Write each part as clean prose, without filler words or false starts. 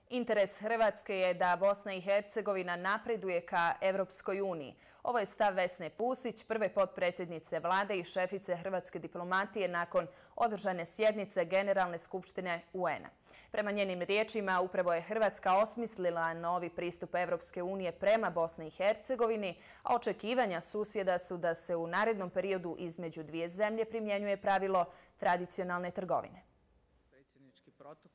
Interes Hrvatske je da Bosna i Hercegovina napreduje ka Evropskoj uniji. Ovo je stav Vesne Pusić, prve potpredsjednice vlade i šefice hrvatske diplomatije nakon održane sjednice Generalne skupštine UN-a. Prema njenim riječima, upravo je Hrvatska osmislila novi pristup Evropske unije prema Bosni i Hercegovini, a očekivanja susjeda su da se u narednom periodu između dvije zemlje primjenjuje pravilo tradicionalne trgovine.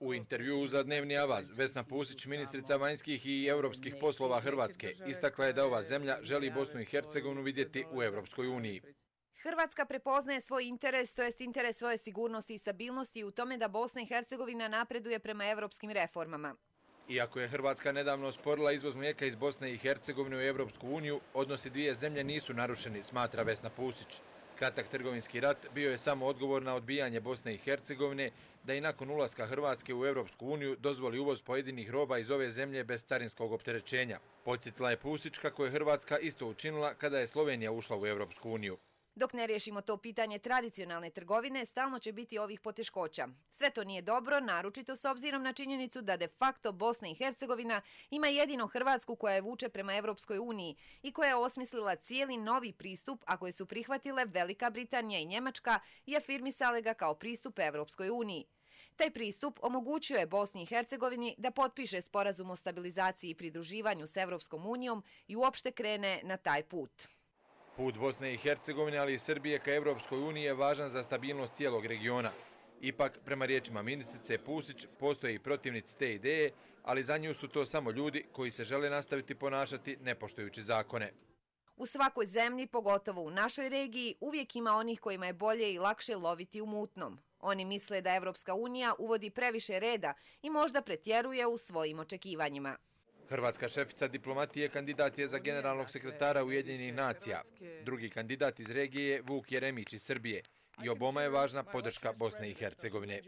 U intervjuu za Dnevni avaz, Vesna Pusić, ministrica vanjskih i europskih poslova Hrvatske, istakla je da ova zemlja želi Bosnu i Hercegovinu vidjeti u Evropskoj uniji. Hrvatska prepoznaje svoj interes, to jest interes svoje sigurnosti i stabilnosti u tome da Bosna i Hercegovina napreduje prema evropskim reformama. Iako je Hrvatska nedavno osporila izvoz mlijeka iz Bosne i Hercegovine u Evropsku uniju, odnosi dvije zemlje nisu narušeni, smatra Vesna Pusić. Kratak trgovinski rat bio je samo odgovor na odbijanje Bosne i Hercegovine da i nakon ulaska Hrvatske u Evropsku uniju dozvoli uvoz pojedinih roba iz ove zemlje bez carinskog opterećenja. Podsjetila je Pusić kako je Hrvatska isto učinila kada je Slovenija ušla u Evropsku uniju. Dok ne riješimo to pitanje tradicionalne trgovine, stalno će biti ovih poteškoća. Sve to nije dobro, naročito s obzirom na činjenicu da de facto Bosna i Hercegovina ima jedino Hrvatsku koja je vuče prema Evropskoj uniji i koja je osmislila cijeli novi pristup, a koje su prihvatile Velika Britanija i Njemačka i afirmisale ga kao pristup Evropskoj uniji. Taj pristup omogućuje Bosni i Hercegovini da potpiše sporazum o stabilizaciji i pridruživanju s Evropskom unijom i uopšte krene na taj put. Put Bosne i Hercegovine, ali i Srbije ka Evropskoj uniji je važan za stabilnost cijelog regiona. Ipak, prema riječima ministrice Pusić, postoje i protivnici te ideje, ali za nju su to samo ljudi koji se žele nastaviti ponašati nepoštujući zakone. U svakoj zemlji, pogotovo u našoj regiji, uvijek ima onih kojima je bolje i lakše loviti u mutnom. Oni misle da Evropska unija uvodi previše reda i možda pretjeruje u svojim očekivanjima. Hrvatska šefica diplomatije kandidat je za generalnog sekretara Ujedinjenih nacija. Drugi kandidat iz regije je Vuk Jeremić iz Srbije. I oboma je važna podrška Bosne i Hercegovine.